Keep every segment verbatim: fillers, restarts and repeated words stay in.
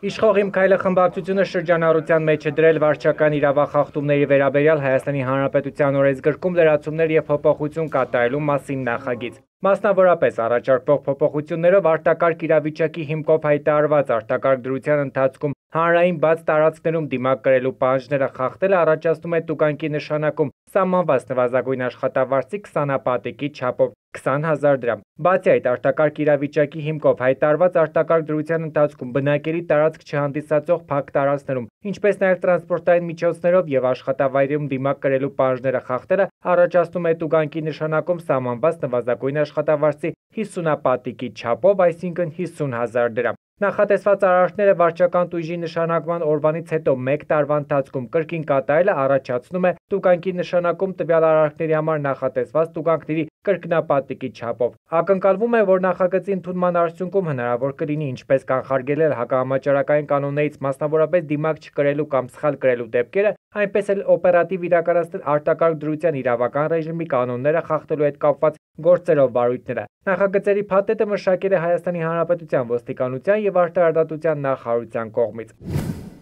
Իշխող Իմ քայլը խմբակցությունը շրջանառության մեջ է դրել վարչական իրավախախտումների վերաբերյալ Հայաստանի Հանրապետության օրենսգրքում լրացումներ և փոփոխություն կատարելու մասին նախագիծ։ Մասնավորապես առաջարկվող փոփոխություններով արտակարգ իրավիճակի հիմքով հայտարարված արտակարգ դրության ընթացքում հանրային բաց տարածքներում դիմակ կրելու պահանջները խախտելը առաջացնում է տուգանքի նշանակում սահմանված նվազագույն աշխատավարձի քսանապատիկի չափով քսան հազար դրամ։ Բացի այդ, արտակարգ իրավիճակի հիմքով հայտարարված արտակարգ դրության ընթացքում բնակելի տարածք չհանդիսացող փակ տարածքներում, ինչպես նաև տրանսպորտային միջոցներով եւ աշխատավայրերում դիմակ կրելու պահանջները խախտելը առաջացնում է տուգանքի նշանակում սահմանված նվազագույն աշխատավարձի հիսունապատիկի չափով, այսինքն հիսուն հազար դրամ։ Նախատեսված արարքները վարչական տույժի նշանակման օրվանից հետո մեկ տարվա ընթացքում կրկին կատարելը առաջացնում է տուգանքի նշանակում տվյալ արարքների համար նախատեսված տուգանքների կրկնապատիկի չափով։ Ակնկալվում է, որ նախագծի ընդունման արդյունքում հնարավոր կլինի ինչպես կանխարգելել հակահամաճարակային կանոններից մասնավորապես դիմակ չկրելու կամ սխալ կրելու դեպքերը, այնպես էլ օպերատիվ իրականացնել արտակարգ դրության իրավական ռեժիմի կանոնները խախտելու հետ կապված գործերով վարույթները։ Նախագծերի փաթեթը մշակել է Հայաստանի Հանրապետության ոստիկանության և արտարադատության նախարարության կողմից։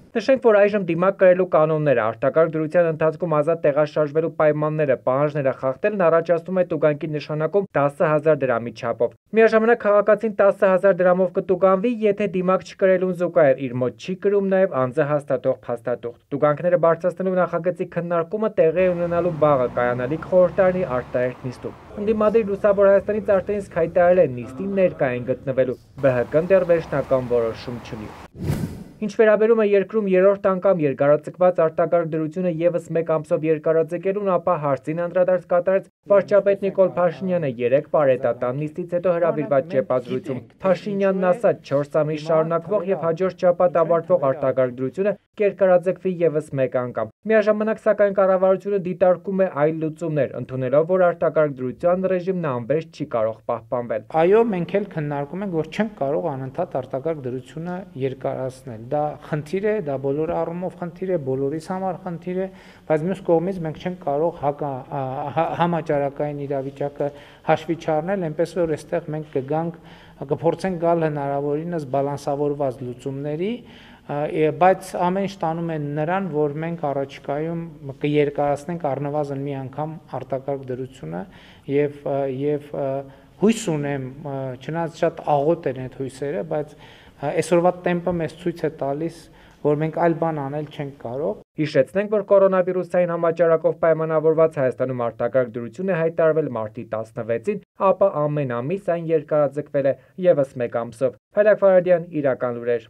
Նշենք, որ այժմ դիմակ կրելու կանոնները, արտակարգ դրության ընթացքում ազատ տեղաշարժվելու պայմանները, պահանջները խախտելն առաջացնում է տուգանքի նշանակում տասը հազար դրամի չափով։ Միաժամանակ քաղաքացին տասը հազար դրամով կտուգանվի, եթե դիմակ չկրելուն զուգահեռ իր մոտ չի կրում նաև անձը հաստատող փաստաթուղթ։ Տուգանքները բարձրացնելու նախագծի քննարկումը տեղի է ունենալու վաղը կայանալիք խորհրդարանի արտահերթ նիստում։ Ընդդիմադիր Լուսավոր Հայաստանից արդեն իսկ հայտարարել է նիստին ներկա են գտնվելու, ԲՀԿ-ն դեռ վերջնական որոշում չունի։ Ինչ վերաբերում է երկրում երրորդ անգամ երկարաձգված արտակարգ դրությունը ևս մեկ ամսով երկարաձգելուն, ապա հարցին անդրադարձ կատարեց վարչապետ Նիկոլ Փաշինյանը երեկ պարետատան նիստից հետո հրավիրված ճեպազրույցում։ Փաշինյանն ասաց, չորս ամիս շարունակվող եւ հաջորդ շաբաթ ավարտվող արտակարգ դրությունը կերկարաձգվի ևս մեկ անգամ։ Միաժամանակ, սակայն, կառավարությունը դիտարկում է այլ լուծումներ, ընդունելով, որ արտակարգ դրության ռեժիմն անվերջ չի կարող պահպանվել։ Այո, մենք էլ քննարկում ենք, որ չենք կարող անընդհատ արտակարգ դրությունը երկարացնել։ Դա խնդիր է, դա բոլոր առումով խնդիր է, բոլորիս համար խնդիր է, բայց մյուս կողմից մենք չենք կարող հակա համաճարակային իրավիճակը հաշվի չառնել, այնպես որ այստեղ մենք կգանք, կփորձենք գալ հնարավորինս բալանսավորված լուծումների, բայց ամեն ինչ տանում է նրան, որ մենք առաջիկայում կերկարացնենք առնվազն մի անգամ արտակարգ դրությունը եւ եւ հույս ունեմ, չնայած շատ աղոտ են այդ հույսերը, բայց այսօրվա տեմպը մեզ ցույց է տալիս, որ մենք այլ բան անել չենք կարող։ Հիշեցնենք, որ կորոնավիրուսային համաճարակով պայմանավորված Հայաստանում արտակարգ դրություն է հայտարարվել մարտի տասնվեցին, ապա ամեն ամիս այն երկարաձգվել է ևս մեկ ամսով։ Փայլակ Ֆարադյան, Իրական լուրեր։